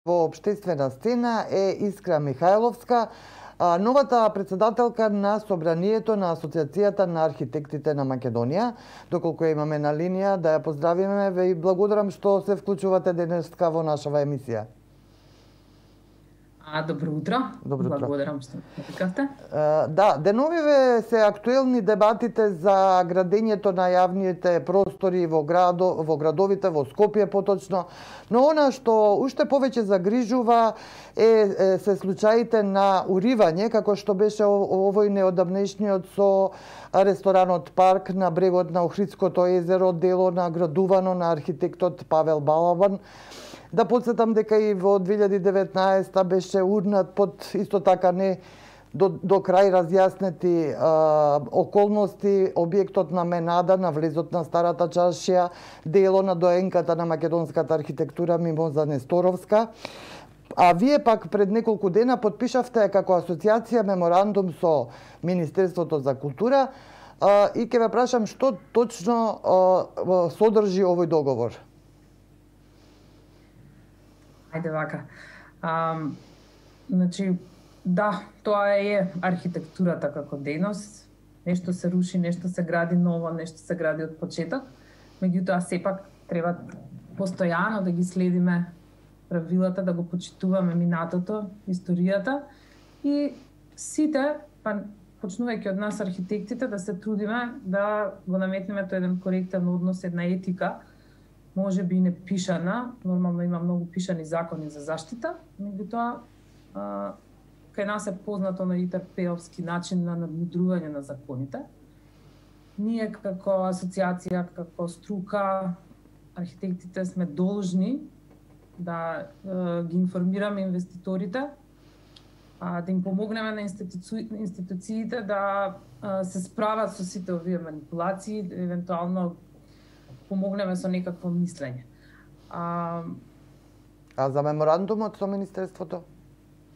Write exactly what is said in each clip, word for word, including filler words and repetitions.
во општествена сцена е Искра Михајловска, новата председателка на Собранието на Асоциацијата на архитектите на Македонија. Доколку ја имаме на линија, да ја поздравиме, ве и благодарам што се вклучувате денеска во нашава емисија. А, добро утро. Добро утро. Благодарам што ме викавте. Да, деновиве се актуелни дебатите за градењето на јавните простори во градо, во градовите, во Скопје поточно, но она што уште повеќе загрижува е, е се случаите на уривање, како што беше овој неодамнешниот со ресторанот Парк на брегот на Охридското езеро, дело наградувано на архитектот Павел Балабан. Да подсетам дека и во две илјади и деветнаесета беше урнат под исто така не до, до крај разјаснети а, околности објектот на Менада на влезот на Старата чаршија, дело на доенката на македонската архитектура Мимоза Несторовска. А вие пак пред неколку дена подпишавте како асоциација меморандум со Министерството за култура а, и ќе ве прашам што точно а, содржи овој договор. Ајде вака. А, значи, да, тоа е архитектурата како дејност. Нешто се руши, нешто се гради ново, нешто се гради од почеток. Меѓутоа, сепак треба постојано да ги следиме правилата, да го почитуваме минатото, историјата и сите, па почнувајќи од нас архитектите, да се трудиме да го наметнеме тој еден коректен однос, една етика, може би не пишана, нормално има многу пишани закони за заштита, меѓутоа кај нас е познато на ИТРП-овски начин на надмудрување на законите. Ние како асоциација, како струка, архитектите сме должни да е, ги информираме инвеститорите, а, да им помогнеме на институци... институциите да е, се справат со сите овие манипулации, евентуално помогнеме со некакво мислење. А, а за меморандумот со Министерството?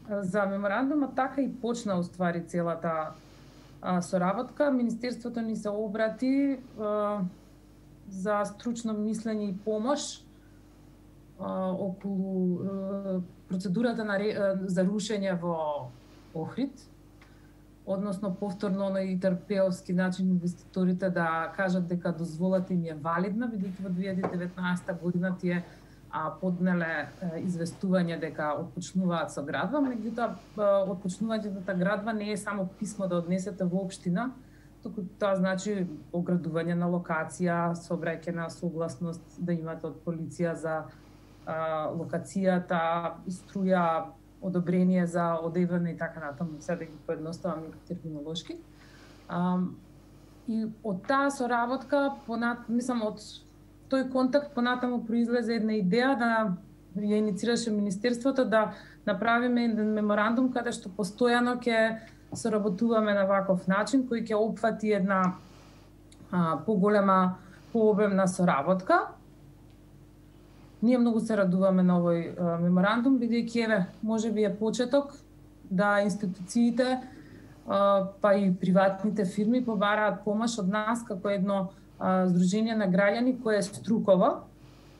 За меморандумот така и почна уствари целата а, соработка. Министерството ни се обрати а, за стручно мислење и помош а, околу а, процедурата на, а, за рушење во Охрид, односно повторно на ИТРП-овски начин инвеститорите да кажат дека дозволата им е валидна, бидејќи во две илјади и деветнаесета година тие а, поднеле а, известување дека отпочнуваат со градба, меѓутоа отпочнувањето на градба не е само писмо да однесете во општина, туку тоа значи оградување на локација, собрајќена согласност да имате од полиција за а, локацијата, струја, одобрение за одеване и така натаму, сега да ги поедноставам терминолошки. А, и од таа соработка, понат, мислам, од тој контакт понатаму произлезе една идеја да ја иницираше Министерството да направиме еден меморандум каде што постојано ќе соработуваме на ваков начин, кој ќе опфати една а, поголема, пообемна соработка. Ние многу се радуваме на овој а, меморандум, бидејќи еве, можеби е почеток да институциите а, па и приватните фирми побараат помош од нас како едно а, здружение на граѓани кое е струково,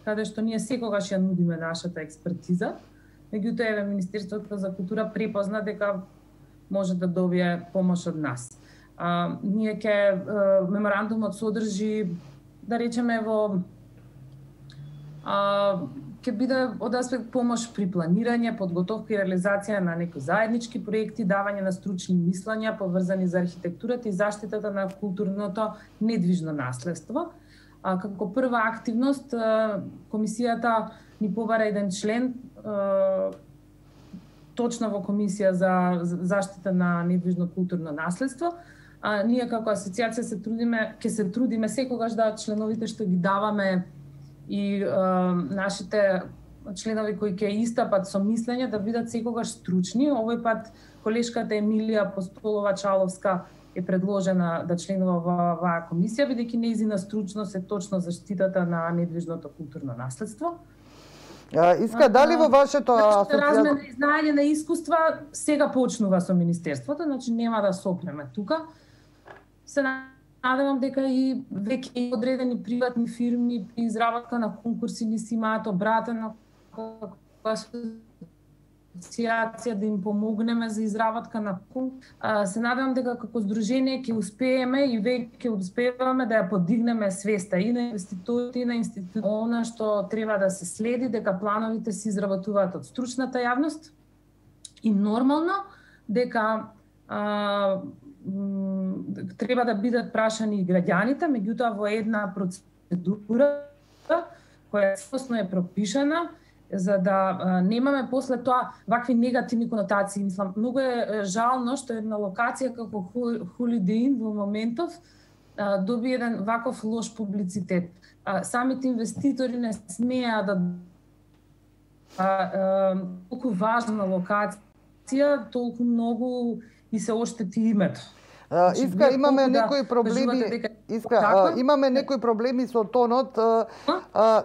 каде што ние секогаш ја нудиме нашата експертиза. Меѓутоа еве Министерството за култура препозна дека може да добие помош од нас. А, ние ќе меморандумот содржи, да речеме, во а, ќе биде од аспект помош при планирање, подготовка и реализација на некои заеднички проекти, давање на стручни мислења поврзани за архитектурата и заштитата на културното недвижно наследство. А, како прва активност, а, комисијата ни побара еден член а, точно во комисија за заштита на недвижно културно наследство. А, ние како асоциација се трудиме, ќе се трудиме секогаш да членовите што ги даваме и а, нашите членови кои ќе истапат со мислење да бидат секогаш стручни. Овој пат колешката Емилија Апостолова-Чаловска е предложена да членува во оваа комисија, бидејќи нејзина стручност е точно заштитата на недвижното културно наследство. А, Иска, дали во вашето асоциација... Размена и знаење на искуства сега почнува со Министерството, значи нема да сопреме тука. Се надевам дека и веќе одредени приватни фирми при изработка на конкурси ни си имаат обратено кога се асоциација да им помогнеме за изработка на пункт. Се надевам дека како здружение ќе успееме и веќе успеваме да ја подигнеме свеста и на инвеститорите и на институциите. Она што треба да се следи дека плановите се изработуваат од стручната јавност и нормално дека а, треба да бидат прашани и граѓаните, меѓутоа во една процедура која целосно е пропишана, за да а, немаме после тоа вакви негативни конотации. Мислам, многу е жално што една локација како Holiday Inn во моментов а, доби еден ваков лош публицитет. А, самите инвеститори не смеа да а, а, толку важна локација, толку многу и се оштети името. Uh, Иска, имаме да некои проблеми, дека... Иска, uh, имаме некои проблеми со тонот. Uh, uh,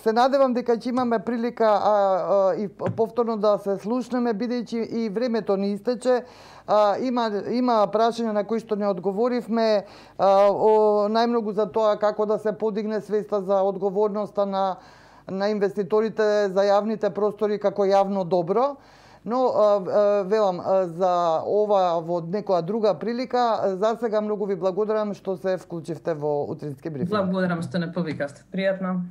Се надевам дека ќе имаме прилика а, а, и повторно да се слушнеме, бидејќи и времето ни истече. А, има, има прашања на кои што не одговоривме, а, о, најмногу за тоа како да се подигне свеста за одговорноста на, на инвеститорите за јавните простори како јавно добро. Но, велам, за ова во некоја друга прилика, за сега многу ви благодарам што се вклучивте во утрински брифинг. Благодарам што не повикавте. Пријатно.